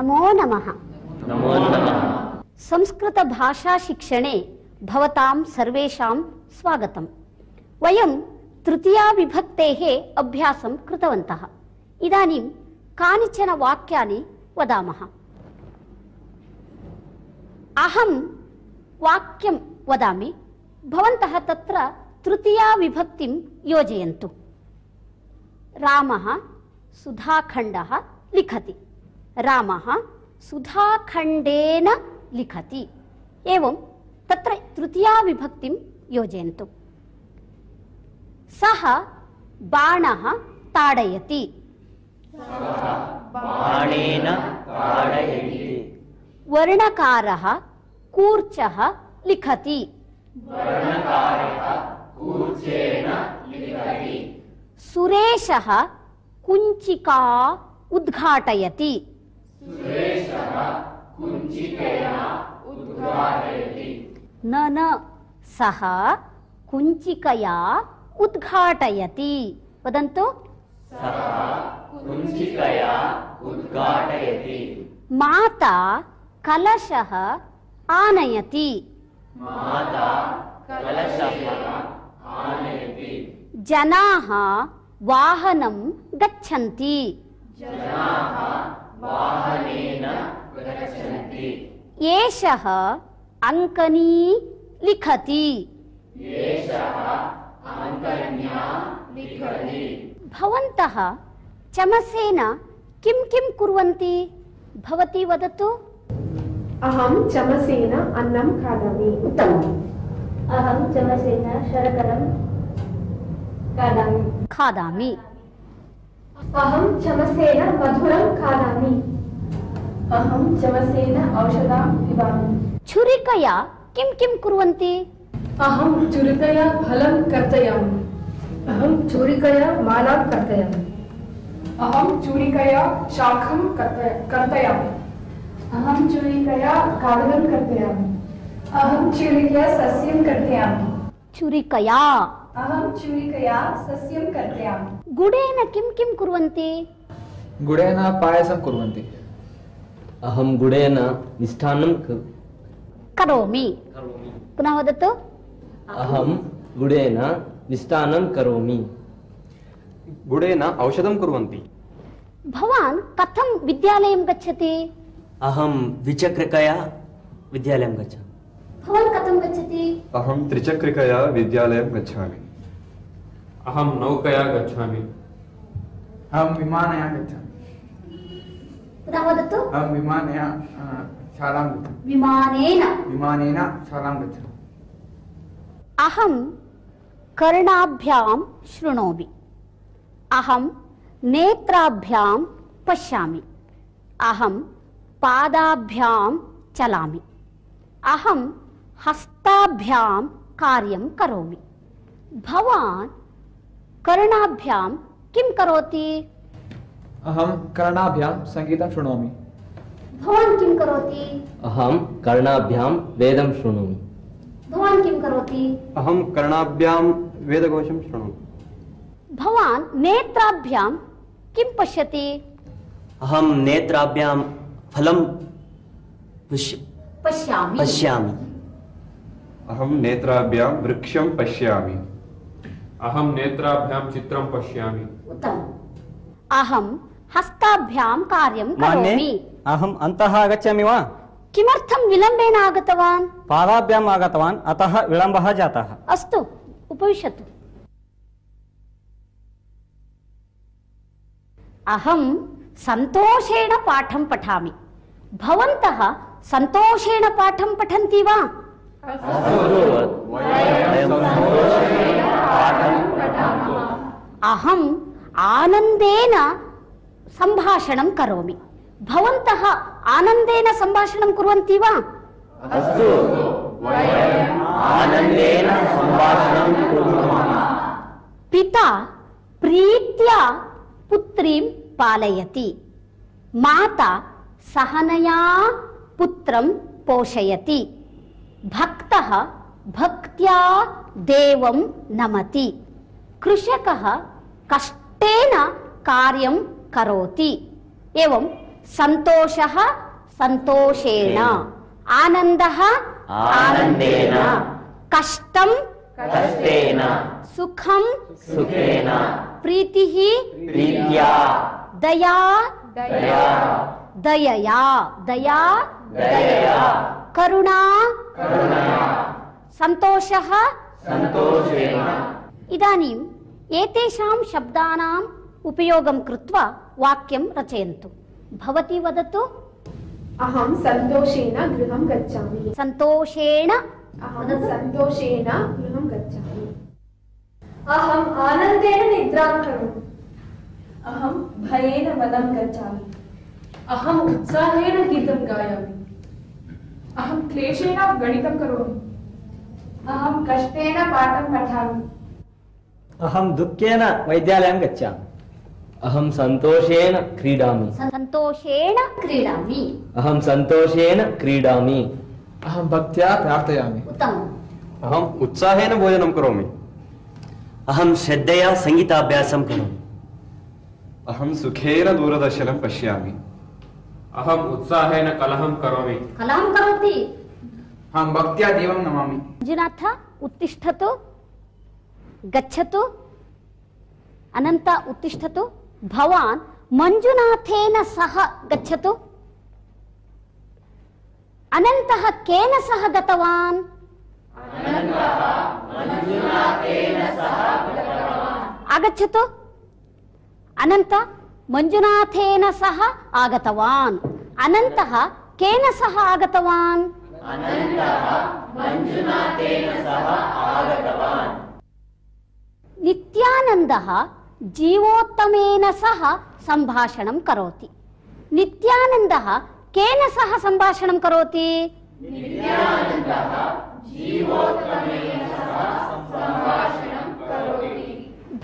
नमो नमः। नमो नमः। संस्कृत भाषा शिक्षणे भवतां सर्वेषां स्वागतम्। वयं तृतीया विभक्तेः अभ्यासं कृतवन्तः। इदानीं कानिचन वाक्यानि वदामः। अहं वाक्यं वदामि, भवन्तः तत्र तृतीया विभक्तिं योजयन्तु। रामः सुधाखण्डः लिखति। रामः सुधाखण्डेन लिखति। एवं तत्र तृतीया विभक्तिं योजयन्तु। सः बाणः ताडयति। बाणेन ताडयति। वर्णकारः कूर्चः लिखति। वर्णकारः कूर्चेन लिखति। सुरेशः कुञ्चिका उद्घाटयति। सुरेशः कुञ्चिकया उद्घाटयति। न सः कुञ्चिकया उद्घाटयति। वदन्तु। सः कुञ्चिकया उद्घाटयति। माता कलशः आनयति। माता कलशः आनयति। जनाः वाहनं गच्छन्ति। जनाः वाहनेन गच्छन्ति। एषः अङ्कनी लिखति। एषः अङ्कन्या लिखति। भवन्तः चमसेन किं किं कुर्वन्ति? भवती वदतु। अहं चमसेन अन्नं खादामि। उत्तमम्। अहं चमसेन शर्करां खादामि। अहं चमसेन मधुरं खादामि। अहं चमसेन औषधं पिबामि। छुरिकया किं किं कुर्वन्ति? अहं छुरिकया फलं कर्तयामि। अहं छुरिकया मालां कर्तयामि। अहं छुरिकया शाखं कर्तयामि। अहं छुरिकया कागदं कर्तयामि। अहं छुरिकया सस्यं कर्तयामि। छुरिकया। अहं छुरिकया सस्यं कर्तयामि। गुडेन किं किं कुर्वन्ति? गुडेन पायसं कुर्वन्ति। अहं गुडेन मिष्टान्नं करोमि। पुनः वदतु। अहं गुडेन मिष्टान्नं करोमि। गुडेन औषधं कुर्वन्ति। भवान् कथं विद्यालयं गच्छति? अहं द्विचक्रिकया विद्यालयं गच्छामि। भवान् कथं गच्छति? अहं त्रिचक्रिकया विद्यालयं गच्छामि। अहं नौकया गच्छामि। अहं विमानया गच्छामि। पुनः वदतु। अहं विमानया शालां गच्छामि। विमानेन शालां गच्छामि। अहं कर्णाभ्यां शृणोमि। अहं नेत्राभ्यां पश्यामि। अहं पादाभ्यां चलामि। अहं हस्ताभ्यां कार्यं करोमि। भवान् कर्णाभ्यां किं करोति? अहं कर्णाभ्यां सङ्गीतं शृणोमि। भवान् किं करोति? अहं कर्णाभ्यां वेदं शृणोमि। भवान् किं करोति? अहं कर्णाभ्यां वेदघोषं शृणोमि। भवान् नेत्राभ्यां किं पश्यति? अहं नेत्राभ्यां फलं पश्यामि। अहं नेत्राभ्यां वृक्षं पश्यामि। अहं नेत्राभ्यां चित्रं पश्यामि। उत्तमम्। अहं हस्ताभ्यां कार्यं करोमि। अहम् अन्तः आगच्छामि वा? किमर्थं विलम्बेन आगतवान्? पादाभ्याम् आगतवान्, अतः विलम्बः जातः। अस्तु, उपविशतु। अहं सन्तोषेण पाठं पठामि। भवन्तः सन्तोषेण पाठं पठन्ति वा? अहम् आनन्देन सम्भाषणं करोमि। भवन्तः आनन्देन सम्भाषणं कुर्वन्ति वा? अस्तु, आनन्देन सम्भाषणं कुर्मः। पिता प्रीत्या पुत्रीं पालयति। माता सहनया पुत्रं पोषयति। भक्तः भक्त्या देवं नमति। कृषकः कष्टेन कार्यं करोति। एवं सन्तोषः सन्तोषेण, आनन्दः आनन्देन, कष्टं कष्टेन, सुखं सुखेन, प्रीतिः प्रीत्या, दया दया, दयया, दया दयया, करुणा करुणया, सन्तोषः सन्तोषेण। इदानीम् एतेषां शब्दानाम् उपयोगं कृत्वा वाक्यं रचयन्तु। भवती वदतु। अहं सन्तोषेण गृहं गच्छामि। सन्तोषेण। अहं सन्तोषेण गृहं गच्छामि। अहम् आनन्देन निद्रां करोमि। अहं भयेन वनं गच्छामि। अहम् उत्साहेन गीतं गायामि। अहं क्लेशेन गणितं करोमि। अहं कष्टेन पाठं पठामि। अहं दुःखेन वैद्यालयं गच्छामि। अहं सन्तोषेण क्रीडामि। सन्तोषेण क्रीडामि। अहं सन्तोषेण क्रीडामि। अहं भक्त्या प्रार्थयामि। उत्तमम्। अहम् उत्साहेन भोजनं करोमि। अहं श्रद्धया सङ्गीताभ्यासं करोमि। अहं सुखेन दूरदर्शनं पश्यामि। अहम् उत्साहेन कलहं करोमि। कलहं करोति। अहं भक्त्या देवं नमामि। मञ्जुनाथ उत्तिष्ठतु, गच्छतु। अनन्त उत्तिष्ठतु। भवान् मञ्जुनाथेन सह गच्छतु। अनन्तः केन सह गतवान्? आगच्छतु। अनन्त मञ्जुनाथेन सह आगतवान्। अनन्तः केन सह आगतवान्? नित्यानन्दः जीवोत्तमेन सह सम्भाषणं करोति। नित्यानन्दः केन सह सम्भाषणं करोति?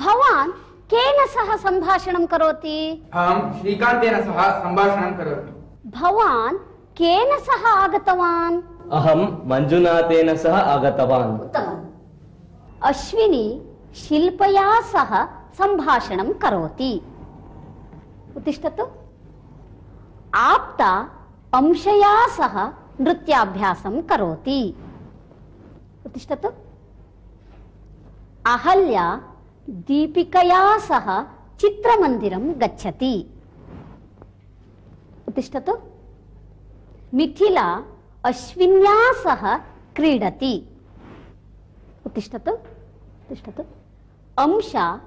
भवान् केन सह सम्भाषणं करोति? अहं श्रीकान्तेन सह सम्भाषणं करोमि। भवान् केन सह आगतवान्? अहं मञ्जुनाथेन सह आगतवान्। उत्तमम्। अश्विनी शिल्पया सह सम्भाषणं करोति। उत्तिष्ठतु। आप्ता अंशया सह नृत्याभ्यासं करोति। उत्तिष्ठतु। अहल्या दीपिकया सह चित्रमन्दिरं गच्छति। उत्तिष्ठतु। मिथिला अश्विन्या सह क्रीडति। उत्तिष्ठतु। उत्तिष्ठतु। अंशा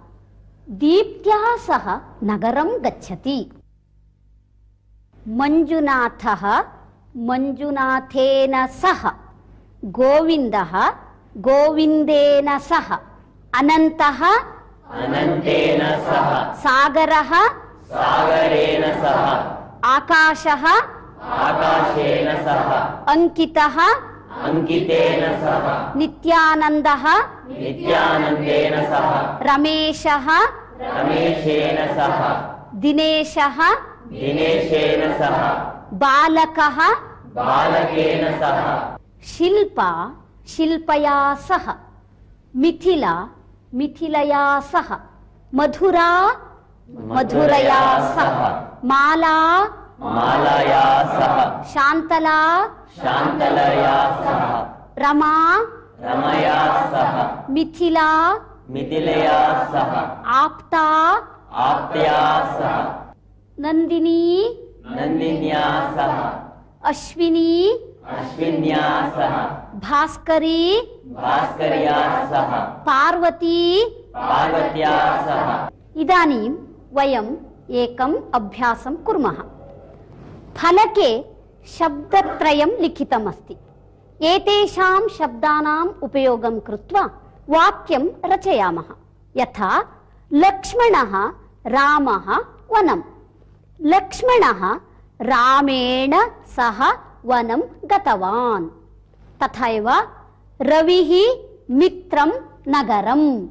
दीप्त्या सह नगरं गच्छति। मञ्जुनाथः मञ्जुनाथेन सह, गोविन्दः गोविन्देन सह, अनन्तः अनन्तेन सह, सागरः सागरेण सह, आकाशः आकाशेन सह, अंकितः अंकितेन सह, नित्यानन्दः नित्यानन्देन सह, रमेशः रमेशेन सह, दिनेशः दिनेशेन सह, बालकः बालकेन सह, शिल्पा शिल्पया सह, मिथिला मिथिलया सह, मधुरा मधुरया सह, माला मालया सह, शान्तला शान्तलया सह, रमा रमया सह, मिथिला मिथिलया सह, आप्ता आप्त्या सह, नन्दिनी नन्दिन्या सह, अश्विनी अश्विन्या सह, भास्करी भास्कर्या सह, पार्वती पार्वत्या सह। इदानीं वयम् एकम् अभ्यासं कुर्मः। फलके शब्दत्रयं लिखितमस्ति। एतेषां शब्दानाम् उपयोगं कृत्वा वाक्यं रचयामः। यथा लक्ष्मणः रामः वनं। लक्ष्मणः रामेण सह वनं गतवान्। तथैव रविः मित्रं नगरम्।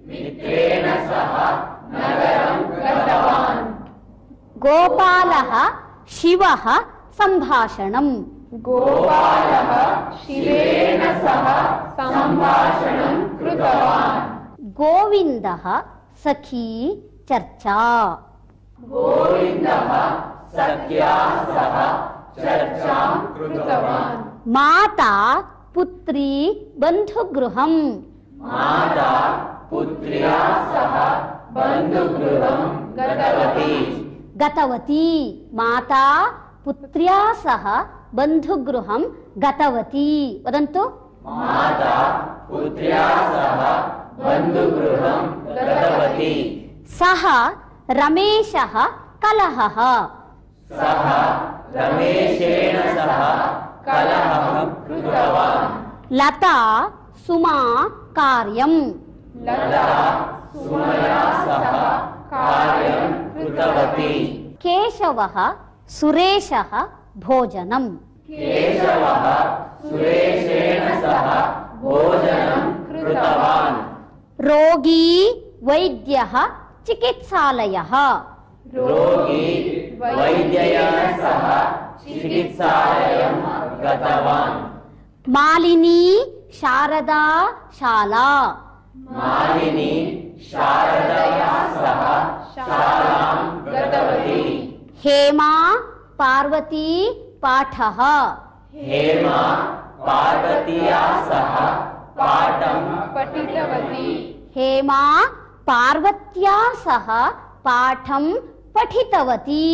मित्रेण सह नगरं गतवान्। गोपालः शिवः सम्भाषणम्। गोपालः शिवेन सह सम्भाषणं कृतवान्। गोविन्दः सखी चर्चा। गोविन्दः सख्या सह चर्चां कृतवान्। माता पुत्री बन्धुगृहं माता पुत्र्या सह बन्धुगृहं गतवती। माता पुत्र्या सह बन्धुगृहं गतवती। वदन्तु। माता पुत्र्या सह बन्धुगृहं गतवती। सः रमेशः कलहः। सः रमेशेन सह कलहं कृतवान्। लता सुमा कार्यं। लता सुमया सह कार्यं कृतवती। केशवः सुरेशः भोजनं। केशवः सुरेशेन सह भोजनं कृतवान्। रोगी वैद्यः चिकित्सालयः। रोगी वैद्यया सह चिकित्सालयं गतवान्। मालिनी शारदा शाला। मालिनी शारदया सह शालां गतवती। हेमा पार्वती पाठः। हेमा पार्वत्या सह पाठं पठितवती। हेमा पार्वत्या सह पाठं पठितवती।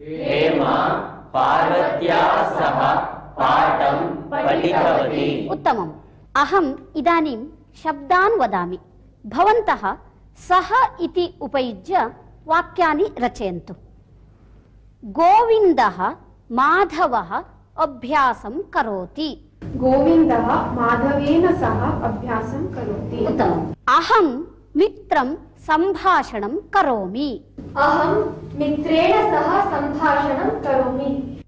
हेमा पार्वत्या सह पाठं पठितवती। उत्तमम्। अहम् इदानीं शब्दान् वदामि। भवन्तः सः इति उपयुज्य वाक्यानि रचयन्तु। गोविन्दः माधवः अभ्यासं करोति। गोविन्दः माधवेन सह अभ्यासं करोति। उत्तमम्। अहं मित्रं सम्भाषणं करोमि। अहं मित्रेण सह सम्भाषणं करोमि।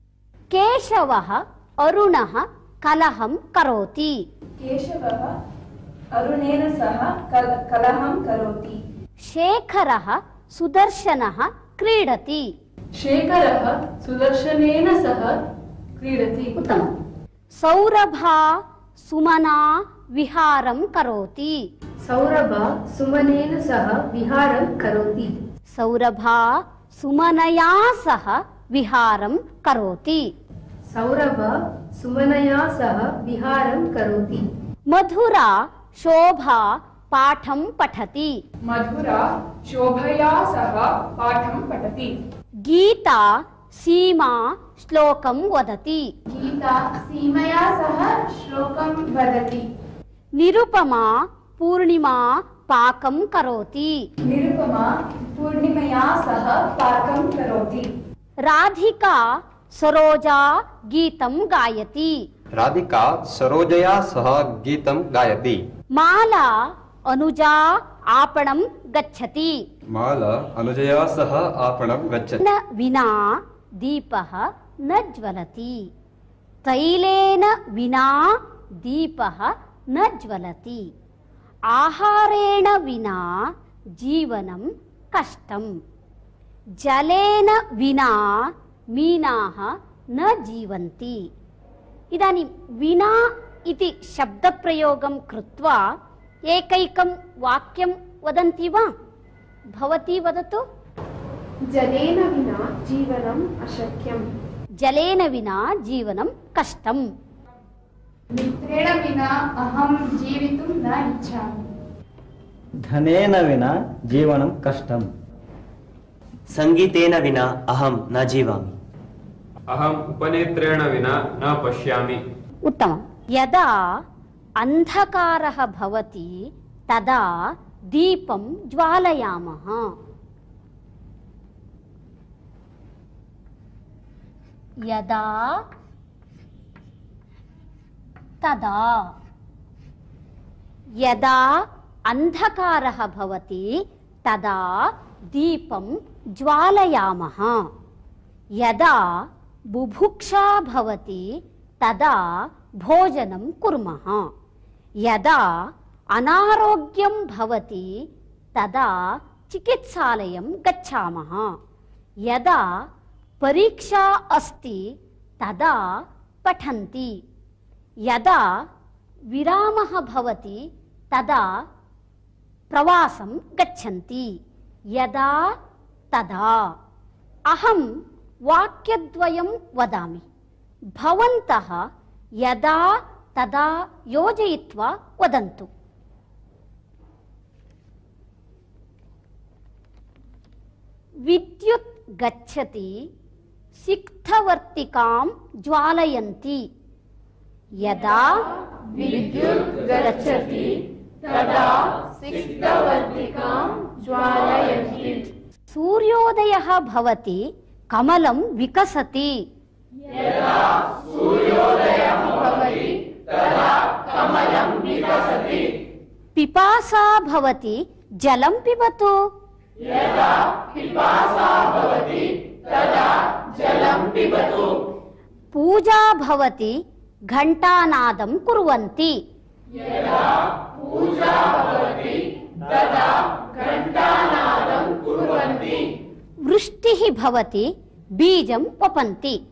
केशवः अरुणः कलहं करोति। केशवः अरुणेन सह कलहं करोति। शेखरः सुदर्शनः क्रीडति। शेखरः सुदर्शनेन सह क्रीडति। उत्तमम्। सौरभा सुमना विहारं करोति। सौरभ सुमनेन सह विहारं करोति। सौरभा सुमनया सह विहारं करोति। सौरभ सुमनया सह विहारं करोति। मधुरा शोभा पाठं पठति। मधुरा शोभया सह पाठं पठति। गीता सीमा श्लोकं वदति। गीता सीमया सह श्लोकं वदति। निरुपमा पूर्णिमा पाकं करोति। निरुपमा पूर्णिमया सह पाकं करोति। राधिका सरोजा गीतं गायति। राधिका सरोजया सह गीतं गायति। माला अनुजा आपणं गच्छति। माला अनुजया सह आपणं गच्छति। न विना दीपः न ज्वलति। तैलेन विना दीपः न ज्वलति। आहारेण विना जीवनं कष्टम्। जलेन विना मीनाः न जीवन्ति। इदानीं विना इति शब्दप्रयोगं कृत्वा एकैकं वाक्यं वदन्ति वा? भवती वदतु। जलेन विना जीवनम् अशक्यम्। जलेन विना जीवनं कष्टम्। मित्रेण विना अहं जीवितुं न इच्छामि। धनेन विना जीवनं कष्टम्। संगीतेन विना अहं न जीवामि। अहम् उपनेत्रेण विना न पश्यामि। उत्तमम्। यदा अन्धकारः भवति तदा दीपं ज्वालयामः। यदा तदा। यदा अन्धकारः भवति तदा दीपं ज्वालयामः। यदा बुभुक्षा भवति तदा भोजनं कुर्मः। यदा अनारोग्यं भवति तदा चिकित्सालयं गच्छामः। यदा परीक्षा अस्ति तदा पठन्ति। यदा विरामः भवति तदा प्रवासं गच्छन्ति। यदा तदा। अहं वाक्यद्वयं वदामि, भवन्तः यदा तदा योजयित्वा वदन्तु। विद्युत् गच्छति सिक्थवर्तिकां ज्वालयन्ति। यदा विद्युत् गच्छति तदा सिक्थवर्तिकां ज्वालयन्ति। सूर्योदयः भवति कमलं विकसति। यदा सूर्योदयः भवति तदा कमलं विकसति। पिपासा भवति जलं पिबतु। यदा पिपासा भवति तदा जलं पिबतु। पूजा भवति घण्टानादं कुर्वन्ति। यदा पूजा भवति तदा घण्टानादं कुर्वन्ति। वृष्टिः भवति बीजं वपन्ति।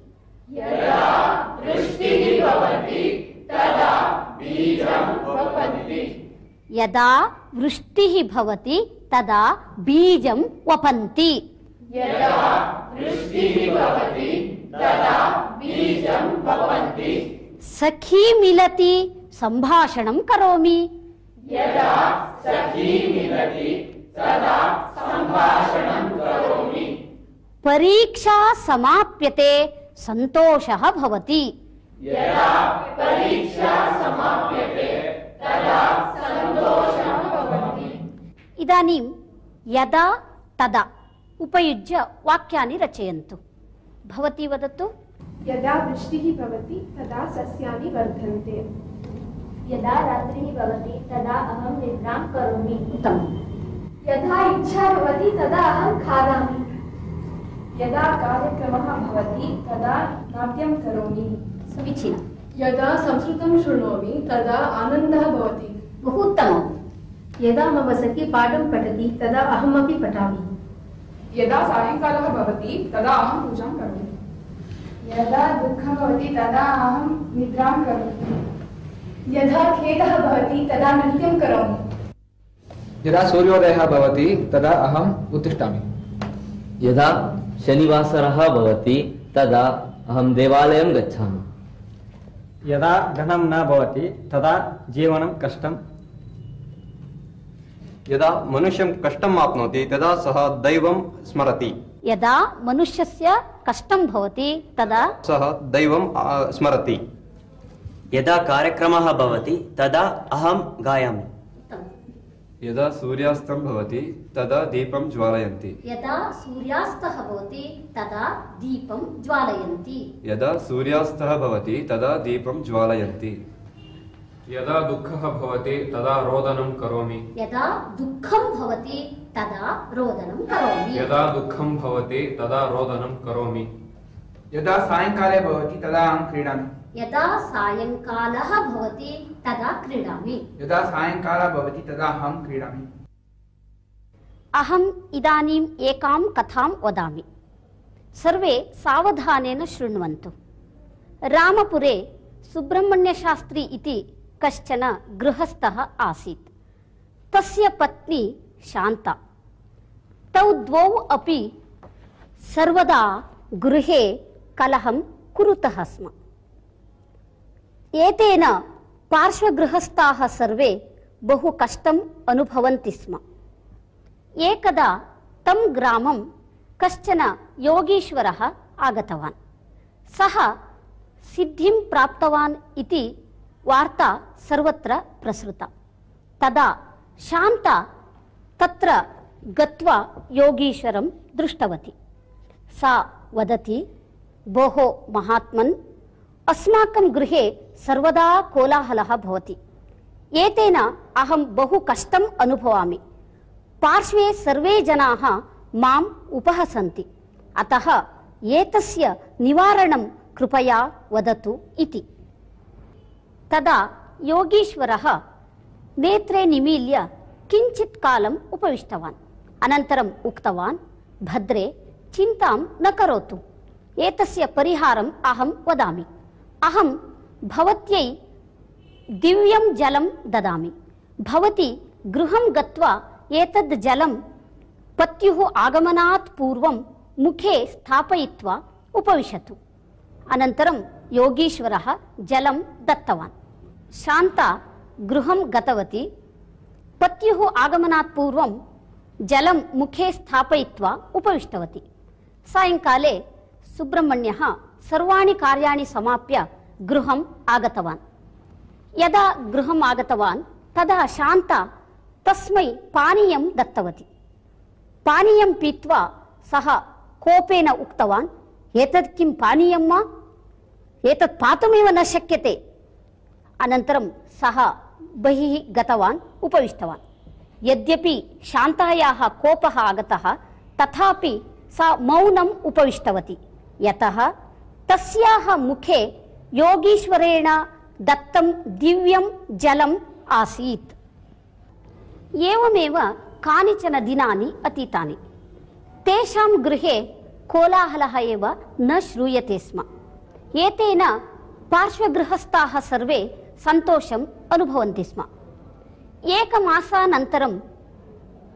यदा वृष्टिः भवति तदा बीजं वपन्ति। यदा वृष्टिः भवति तदा बीजं वपन्ति। यदा वृष्टिः भवति तदा बीजं वपन्ति। सखी मिलति सम्भाषणं करोमि। यदा सखी मिलति तदा सम्भाषणं करोमि। परीक्षा समाप्यते सन्तोषः भवति। यदा परीक्षा समाप्यते तदा सन्तोषः भवति। इदानीं यदा तदा उपयुज्य वाक्यानि रचयन्तु। भवती वदतु। यदा वृष्टिः भवति तदा सस्यानि वर्धन्ते। यदा रात्रिः भवति तदा अहं निद्रां करोमि। उत्तमम्। यदा इच्छा भवति तदा अहं खादामि। यदा कार्यक्रमः भवति तदा नाट्यं करोमि। समीचीनम्। यदा संस्कृतं शृणोमि तदा आनन्दः भवति। बहु उत्तमम्। यदा मम सखी पाठं पठति तदा अहमपि पठामि। यदा सायंकालः भवति तदा अहं पूजां करोमि। यदा दुःखं भवति तदा अहं निद्रां करोमि। यदा खेदः भवति तदा नृत्यं करोमि। यदा सूर्योदयः भवति तदा अहम् उत्तिष्ठामि। यदा शनिवासरः भवति तदा अहं देवालयं गच्छामि। यदा धनं न भवति तदा जीवनं कष्टम्। यदा मनुष्यं कष्टम् आप्नोति तदा सः दैवं स्मरति। यदा मनुष्यस्य कष्टं भवति तदा सः दैवं स्मरति। यदा कार्यक्रमः भवति तदा अहं गायामि। यदा सूर्यास्तं भवति तदा दीपं ज्वालयन्ति। यदा सूर्यास्तः भवति तदा दीपं ज्वालयन्ति। यदा सूर्यास्तः भवति तदा दीपं ज्वालयन्ति। यदा दुःखः भवति तदा रोदनं करोमि। यदा दुःखं भवति तदा रोदनं करोमि। यदा दुःखं भवति तदा रोदनं करोमि। यदा सायंकाले भवति तदा अहं क्रीडामि। यदा सायंकालः भवति तदा क्रीडामि। यदा सायंकालः भवति तदा अहं क्रीडामि। अहम् इदानीम् एकां कथां वदामि। सर्वे सावधानेन शृण्वन्तु। रामपुरे सुब्रह्मण्यशास्त्री इति कश्चन गृहस्थः आसीत्। तस्य पत्नी शान्ता। तौ द्वौ अपि सर्वदा गृहे कलहं कुरुतः स्म। एतेन पार्श्वगृहस्थाः सर्वे बहु कष्टम् अनुभवन्ति स्म। एकदा तं ग्रामं कश्चन योगीश्वरः आगतवान्। सः सिद्धिं प्राप्तवान् इति वार्ता सर्वत्र प्रसृता। तदा शान्ता तत्र गत्वा योगीश्वरं दृष्टवती। सा वदति, भोः महात्मन्, अस्माकं गृहे सर्वदा कोलाहलः भवति। एतेन अहं बहु कष्टम् अनुभवामि। पार्श्वे सर्वे जनाः माम् उपहसन्ति। अतः एतस्य निवारणं कृपया वदतु इति। तदा योगीश्वरः नेत्रे निमील्य किञ्चित् कालम् उपविष्टवान्। अनन्तरम् उक्तवान्, भद्रे, चिन्तां न करोतु। एतस्य परिहारम् अहं वदामि। अहं भवत्यै दिव्यं जलं ददामि। भवती गृहं गत्वा एतद् जलं पत्युः आगमनात् पूर्वं मुखे स्थापयित्वा उपविशतु। अनन्तरं योगीश्वरः जलं दत्तवान्। शान्ता गृहं गतवती। पत्युः आगमनात् पूर्वं जलं मुखे स्थापयित्वा उपविष्टवती। सायङ्काले सुब्रह्मण्यः सर्वाणि कार्याणि समाप्य गृहम् आगतवान्। यदा गृहम् आगतवान् तदा शान्ता तस्मै पानीयं दत्तवती। पानीयं पीत्वा सः कोपेन उक्तवान्, एतत् किं पानीयं वा? एतत् पातुमेव न शक्यते। अनन्तरं सः बहिः गतवान्, उपविष्टवान्। यद्यपि शान्तायाः कोपः आगतः तथापि सा मौनम् उपविष्टवती, यतः तस्याः मुखे योगीश्वरेण दत्तं दिव्यं जलम् आसीत्। एवमेव कानिचन दिनानि अतीतानि। तेषां गृहे कोलाहलः एव न श्रूयते स्म। एतेन पार्श्वगृहस्थाः सर्वे सन्तोषम् अनुभवन्ति स्म। एकमासानन्तरं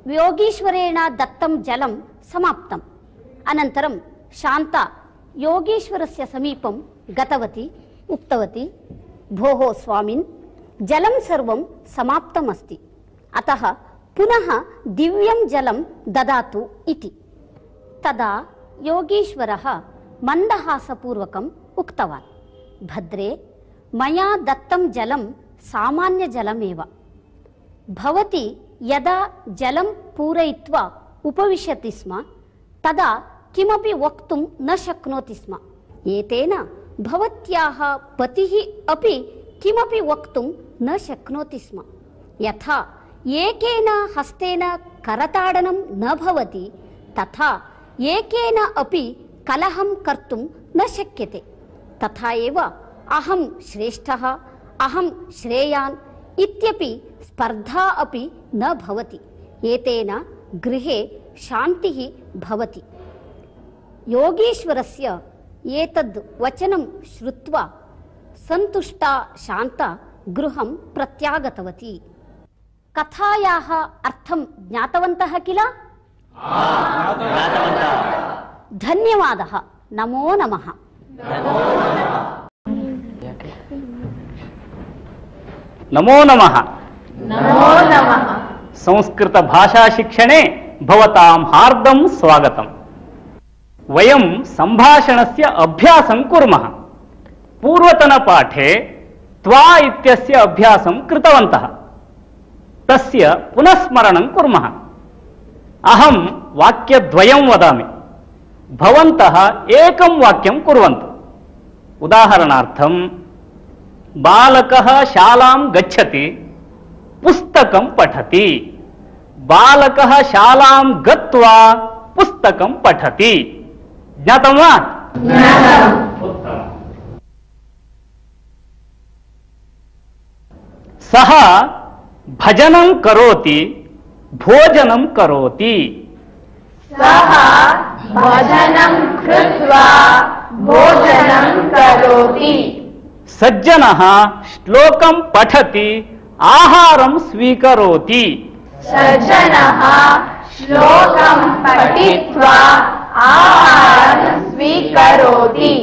योगीश्वरेण दत्तं जलं समाप्तम्। अनन्तरं शान्ता योगीश्वरस्य समीपं गतवती, उक्तवती, भोः स्वामिन्, जलं सर्वं समाप्तमस्ति, अतः पुनः दिव्यं जलं ददातु इति। तदा योगीश्वरः मन्दहासपूर्वकम् उक्तवान्, भद्रे, मया दत्तं जलं सामान्यजलमेव। भवती यदा जलं पूरयित्वा उपविशति स्म तदा किमपि वक्तुं न शक्नोति स्म। एतेन भवत्याः पतिः अपि किमपि वक्तुं न शक्नोति स्म। यथा एकेन हस्तेन करताडनं न भवति तथा एकेन अपि कलहं कर्तुं न शक्यते। तथा एव अहं श्रेष्ठः, अहं श्रेयान् इत्यपि स्पर्धा अपि न भवति। एतेन गृहे शान्तिः भवति। योगीश्वरस्य एतद् वचनं श्रुत्वा सन्तुष्टा शान्ता गृहं प्रत्यागतवती। कथायाः अर्थं ज्ञातवन्तः किल? धन्यवादः। नमो नमः। नमो नमः। नमो नमः। संस्कृत भाषा शिक्षणे भवतां हार्दं स्वागतम्। वयं सम्भाषणस्य अभ्यासं कुर्मः। पूर्वतनपाठे त्वा इत्यस्य अभ्यासं कृतवन्तः। तस्य पुनस्मरणं कुर्मः। अहं वाक्यद्वयं वदामि, भवन्तः एकं वाक्यं कुर्वन्तु। उदाहरणार्थं, बालकः शालां गच्छति, पुस्तकं पठति। बालकः शालां गत्वा पुस्तकं पठति। ज्ञातं वा? उत्तमम्। सः भजनं करोति, भोजनं करोति। सः भजनं कृत्वा भोजनं करोति। सज्जनः श्लोकं पठति, आहारं स्वीकरोति। सज्जनः श्लोकं पठित्वा आहारं स्वीकरोति।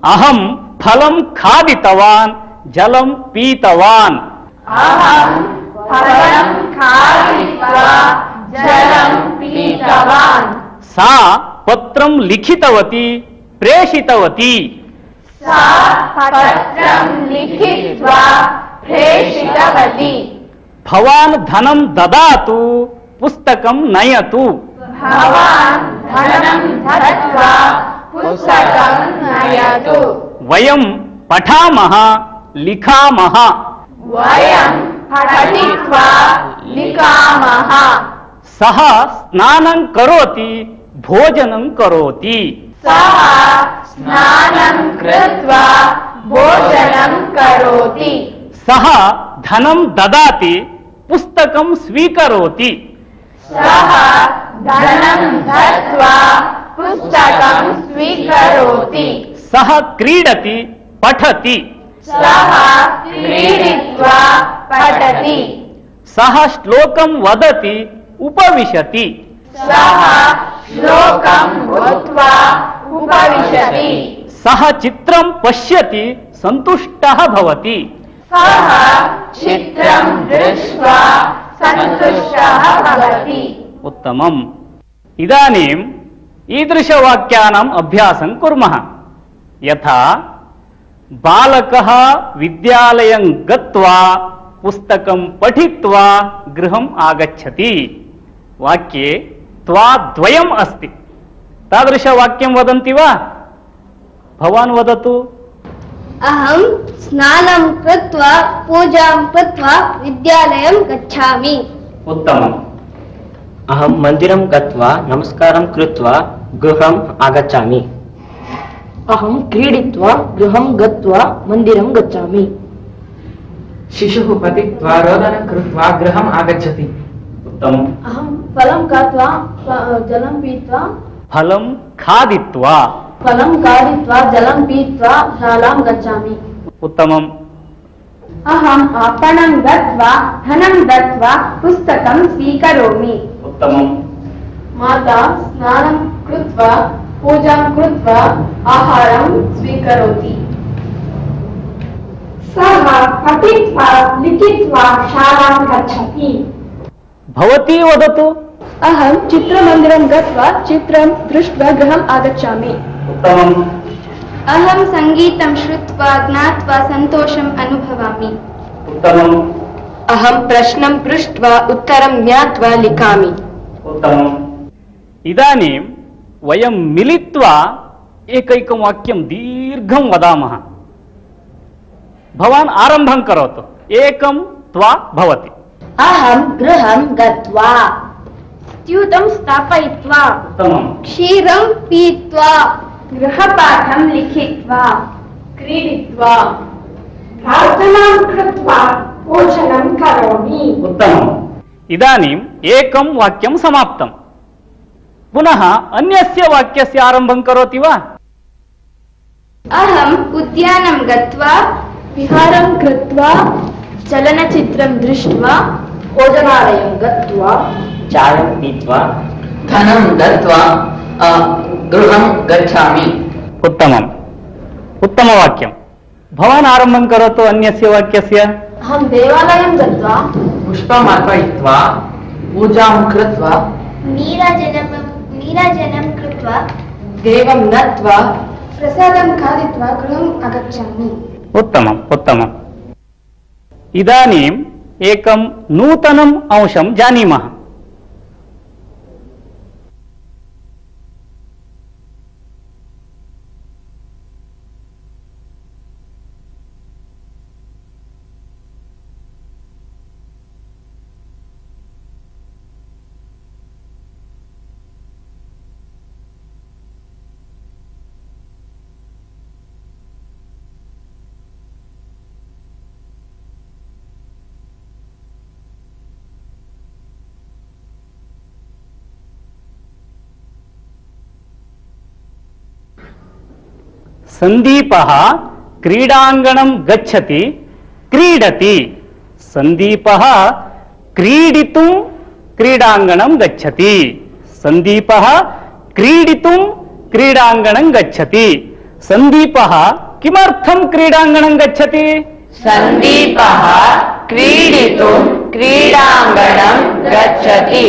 अहं फलं खादितवान्, जलं पीतवान्। अहं फलं खादित्वा जलं पीतवान्। सा पत्रं लिखितवती, प्रेषितवती। सा पत्रं लिखित्वा प्रेषितवती। भवान् धनं ददातु, पुस्तकं नयतु। भवान् धनं दत्त्वा पुस्तकं नयतु। वयं पठामः, लिखामः। वयं पठित्वा लिखामः। सः स्नानं करोति, भोजनं करोति। सः स्नानं कृत्वा भोजनं करोति। सः धनं ददाति, पुस्तकं स्वीकरोति। सः धनं दत्त्वा पुस्तकं स्वीकरोति। सः क्रीडति, पठति। सः क्रीडित्वा पठति। सः श्लोकं वदति, उपविशति। सः श्लोकं भूत्वा उपविशति सः चित्रं पश्यति सन्तुष्टः भवति सः चित्रं दृष्ट्वा सन्तुष्टः भवति उत्तमम् इदानीम् ईदृशवाक्यानाम् अभ्यासं कुर्मः यथा बालकः विद्यालयं गत्वा पुस्तकं पठित्वा गृहम् आगच्छति वाक्ये त्वाद्वयम् अस्ति तादृशवाक्यं वदन्ति वा भवान् वदतु अहं स्नानं कृत्वा पूजां कृत्वा विद्यालयं गच्छामि उत्तमम् अहं मन्दिरं गत्वा नमस्कारं कृत्वा गृहम् आगच्छामि अहं क्रीडित्वा गृहं गत्वा मन्दिरं गच्छामि शिशुः पतित्वा रोदनं कृत्वा गृहम् आगच्छति उत्तमम् अहं फलं खादित्वा जलं पीत्वा फलं खादित्वा जलं पीत्वा शालां गच्छामि उत्तमम् अहम् आपणं गत्वा धनं दत्वा पुस्तकं स्वीकरोमि उत्तमम् माता स्नानं कृत्वा पूजां कृत्वा आहारं स्वीकरोति सः पठित्वा लिखित्वा शालां गच्छति भवती वदतु अहं चित्रमन्दिरं गत्वा चित्रं दृष्ट्वा गृहम् आगच्छामि उत्तमम् अहं सङ्गीतं श्रुत्वा ज्ञात्वा सन्तोषम् अनुभवामि उत्तमम् अहं प्रश्नं पृष्ट्वा उत्तरं ज्ञात्वा लिखामि उत्तमम् इदानीं वयं मिलित्वा एकैकं वाक्यं दीर्घं वदामः भवान् आरम्भं करोतु एकं त्वा भवति अहं गृहं गत्वा स्यूतं स्थापयित्वा उत्तमम् क्षीरं पीत्वा गृहपाठं लिखित्वा क्रीडित्वा प्रार्थनां कृत्वा भोजनं करोमि उत्तमम् इदानीम् एकं वाक्यं समाप्तं पुनः अन्यस्य वाक्यस्य आरम्भं करोति वा अहम् उद्यानं गत्वा विहारं कृत्वा चलनचित्रं दृष्ट्वा भोजनालयं गत्वा चायं पीत्वा धनं दत्वा गृहं गच्छामि उत्तमम् उत्तमवाक्यं भवान् आरम्भं करोतु अन्यस्य वाक्यस्य अहं देवालयं गत्वा पुष्पम् अर्पयित्वा पूजां कृत्वा नीराजनं कृत्वा देवं नत्वा प्रसादं खादित्वा गृहम् आगच्छामि उत्तमम् उत्तमम् इदानीम् एकं नूतनम् अंशं जानीमः संदीपः क्रीडाङ्गणं गच्छति क्रीडति संदीपः क्रीडितुं क्रीडाङ्गणं गच्छति संदीपः क्रीडितुं क्रीडाङ्गणं गच्छति संदीपः किमर्थं क्रीडाङ्गणं गच्छति संदीपः क्रीडितुं क्रीडाङ्गणं गच्छति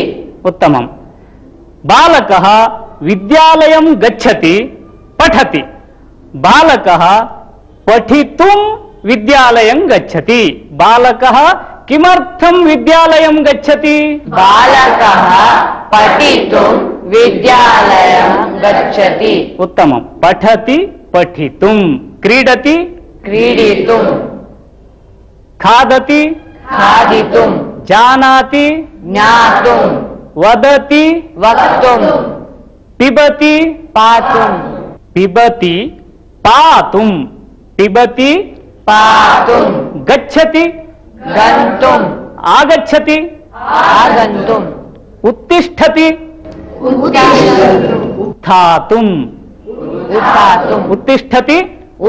उत्तमम् बालकः विद्यालयं गच्छति पठति बालकः पठितुं विद्यालयं गच्छति बालकः किमर्थं विद्यालयं गच्छति बालकः पठितुं विद्यालयं गच्छति उत्तमं पठति पठितुं क्रीडति क्रीडितुं खादति खादितुं जानाति ज्ञातुं वदति वक्तुं पिबति पातुं पिबति पातुं पिबति पातुं गच्छति गन्तुं आगच्छति आगन्तुं उत्तिष्ठति उत्थातुं उत्थातुं उत्तिष्ठति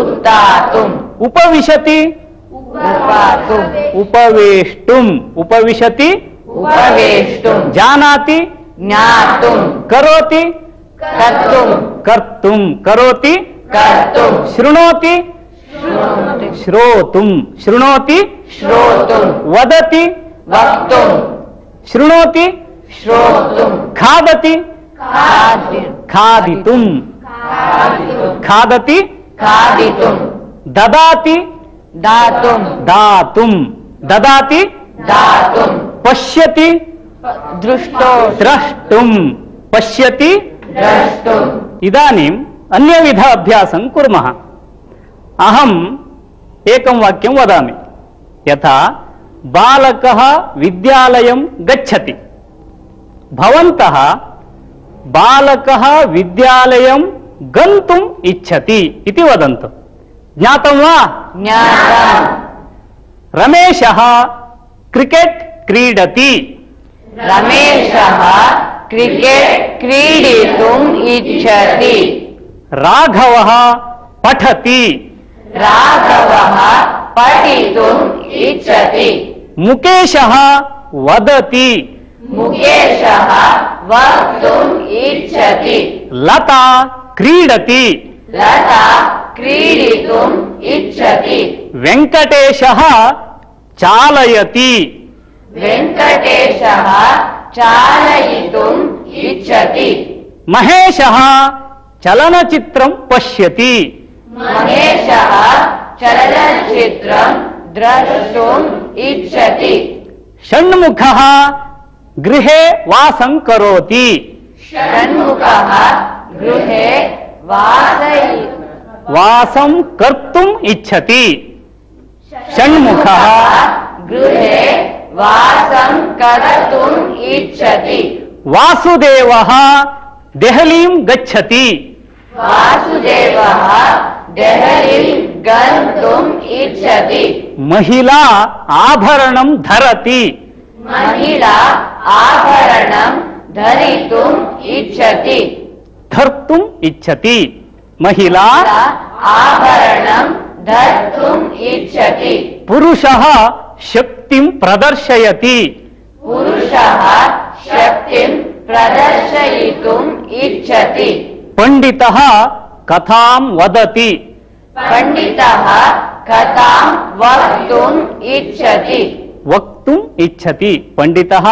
उत्थातुं उपविशति उपातुं उपवेष्टुं उपविशति उपवेष्टुं जानाति ज्ञातुं करोति कर्तुं कर्तुं करोति कर्तुं शृणोति श्रोतुं शृणोति श्रोतुं वदति वक्तुं शृणोति श्रोतुं खादति खादितुं खादति खादितुं ददाति दातुं दातुं ददाति दातुं पश्यति दृष्टो द्रष्टुं पश्यति द्रष्टुं इदानीम् अन्यविध अभ्यासं कुर्मः। अहम् एकं वाक्यं वदामि। यथा बालकः विद्यालयं गच्छति। भवन्तः बालकः विद्यालयं गन्तुम् इच्छति इति वदन्तु। ज्ञातं वा? ज्ञातम्। रमेशः क्रिकेट् क्रीडति। रमेशः क्रिकेट् क्रीडितुम् इच्छति। राघवः पठति। राघवः पठितुम् इच्छति। मुकेशः वदति। मुकेशः वक्तुम् इच्छति। लता क्रीडति। लता क्रीडितुम् इच्छति। वेङ्कटेशः चालयति। वेङ्कटेशः चालयितुम् इच्छति। महेशः चलनचित्रं पश्यति। महेशः चलनचित्रं द्रष्टुम् इच्छति। षण्मुखः गृहे वासं करोति। षण्मुखः गृहे वासं कर्तुम् इच्छति। षण्मुखः गृहे वासं कर्तुम् इच्छति। वासुदेवः देहलीं गच्छति। वासुदेवः देहलीं गन्तुम् इच्छति। महिला आभरणं धरति। महिला आभरणं धरितुम् इच्छति। धर्तुम् इच्छति। महिला आभरणं धर्तुम् इच्छति। पुरुषः शक्तिं प्रदर्शयति। पुरुषः शक्तिं प्रदर्शयितुम् इच्छति। पंडितः कथां वदति। पंडितः कथां वक्तुम् इच्छति। वक्तुम् इच्छति। पंडितः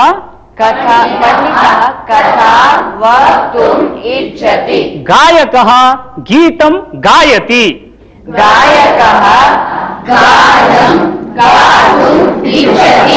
कथां वक्तुम् इच्छति। गायकः गीतं गायति। गायकः गानं गातुम् इच्छति।